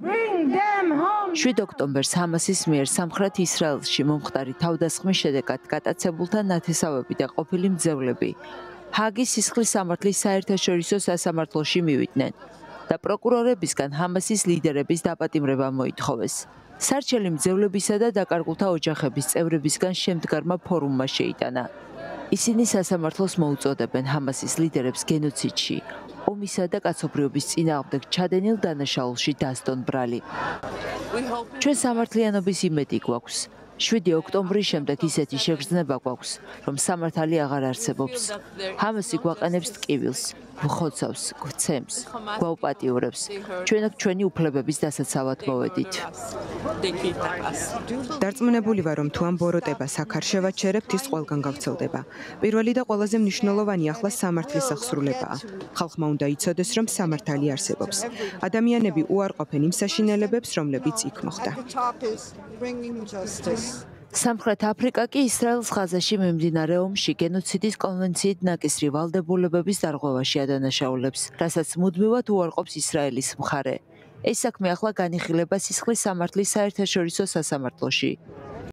7 ოქტომბერს ჰამასის მიერ სამხრეთ ისრაელში მომხდარი თავდასხმის შედეგად გატაცებულთა ნათესავები და ყოფილი მძევლები ჰააგის სისხლის სამართლის საერთაშორისო სასამართლოში მივიდნენ და პროკურორებისგან ჰამასის ლიდერების დაპატიმრება მოითხოვეს. სარჩელი მძევლებისა და დაკარგულთა ოჯახების წევრებისგან შემდგარმა ფორუმმა შეიტანა. ისინი სასამართლოს მოუწოდებენ ჰამასის ლიდერებს გენოციდში, ომისა და კაცობრიობის წინააღმდეგ ჩადენილ დანაშაულში დასდონ ბრალი. ჩვენ სამართლიანობის იმედი გვაქვს. 7 ოქტომბრის შემდეგ ისეთი შეგრძნება გვაქვს, რომ სამართალი აღარ არსებობს. ჰამასი გვაყენებს ტკივილს, მხოცავს, გვცემს, გვაუპატიურებს. ჩვენ აქ ჩვენი უფლებების დასაცავად მოვედით. დარწმუნებული ვარ, რომ თუ ამ ბოროტებას აქ არ შევაჩერებთ, ის ყველგან გავრცელდება. პირველი და ყველაზე მნიშვნელოვანი ახლა სამართლის აღსრულებაა. ხალხმა უნდა იცოდეს, რომ სამართალი არსებობს. ადამიანები უარყოფენ იმ საშინელებებს, რომლებიც იქ მოხდა. სამხრეთ აფრიკა კი ისრაელის ღაზაში მიმდინარე ომში გენოციდის კონვენციით ნაკისრი ვალდებულებების დარღვევაში ადანაშაულებს, რასაც მუდმივად უარყოფს ისრაელის მხარე. ეს საქმე ახლა განიხილება სისხლის სამართლის საერთაშორისო სასამართლოში.